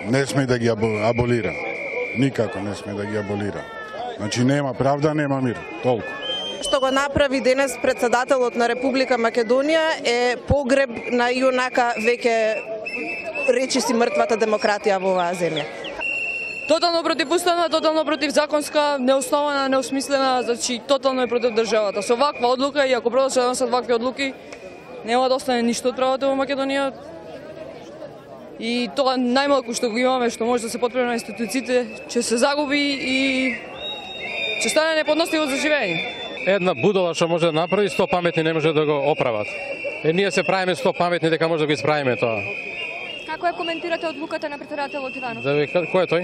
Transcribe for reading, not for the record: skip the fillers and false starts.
не сме да ги аболира. Никако не сме да ги аболира. Значи нема правда, нема мир. Толку. Што го направи денес председателот на Република Македонија е погреб на юнака веќе речиси мртвата демократија во оваа земја. Тотално противуставна, тотално противзаконска, неоснована, неосмислена, значи тотално е против државата. Со ваква одлука и ако продолжат да носат вакви одлуки, нема да остане ништо од правото во Македонија. И тоа најмалку што го имаме, што може да се потпре на институциите, ќе се загуби и ќе стане неподносливо за живење. Една будала што може да направи, 100 паметни не може да го оправат. Ние се правиме 100 паметни дека може да го исправиме тоа. Како ја коментирате одлуката на председателот Иванов? Кој е тој?